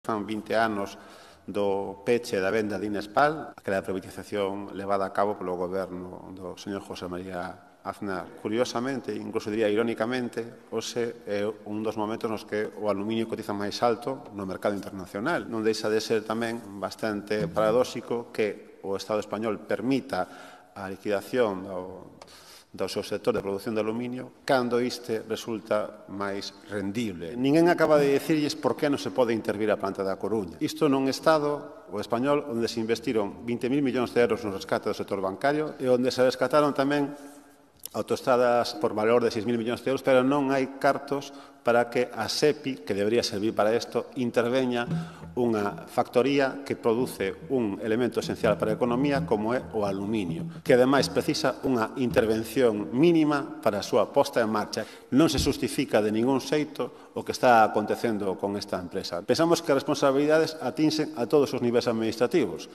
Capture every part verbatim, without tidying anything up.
Fan vinte anos do peche da venda de Inespal, aquela privatización levada a cabo polo goberno do señor José María Aznar. Curiosamente, incluso diría irónicamente, hoxe é un dos momentos nos que o aluminio cotiza máis alto no mercado internacional. Non deixa de ser tamén bastante paradóxico que o Estado español permita a liquidación do do seu sector de produción de aluminio, cando este resulta máis rendible. Ninguén acaba de dicirlles por que non se pode intervir a planta da Coruña. Isto nun Estado, o español, onde se investiron vinte mil millóns de euros no rescate do sector bancario e onde se rescataron tamén autoestradas por valor de seis mil millóns de euros, pero non hai cartos para que a SEPI, que debería servir para isto, interveña unha factoría que produce un elemento esencial para a economía como é o aluminio, que ademais precisa unha intervención mínima para a súa posta en marcha. Non se justifica de ningún xeito o que está acontecendo con esta empresa. Pensamos que as responsabilidades atinxen a todos os niveis administrativos.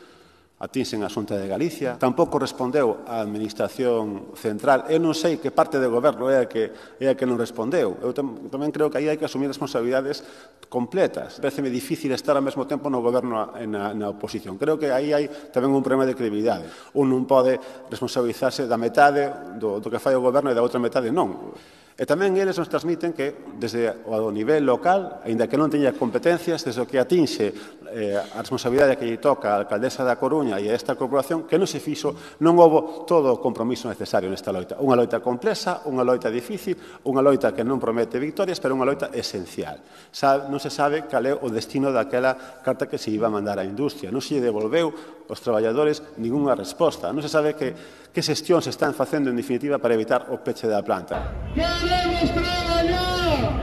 Atinxen a Xunta de Galicia, tampouco respondeu a Administración Central. Eu non sei que parte do goberno é a que, é a que non respondeu. Eu tamén creo que aí hai que asumir responsabilidades completas. Pareceme difícil estar ao mesmo tempo no goberno e na, na oposición. Creo que aí hai tamén un problema de credibilidade. Un non pode responsabilizarse da metade do, do que fai o goberno e da outra metade non. E tamén eles nos transmiten que, desde o nivel local, aínda que non teña competencias, desde o que atinxe eh, a responsabilidade que lle toca a alcaldesa da Coruña e a esta corporación, que non se fixo, non houbo todo o compromiso necesario nesta loita. Unha loita complexa, unha loita difícil, unha loita que non promete victorias, pero unha loita esencial. Sabe, non se sabe cal é o destino daquela carta que se iba a mandar á industria. Non se lle devolveu aos traballadores ningunha resposta. Non se sabe que, que xestión se están facendo, en definitiva, para evitar o peche da planta. ¡Queremos trabajar!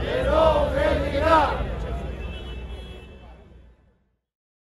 ¡Que no se dirá!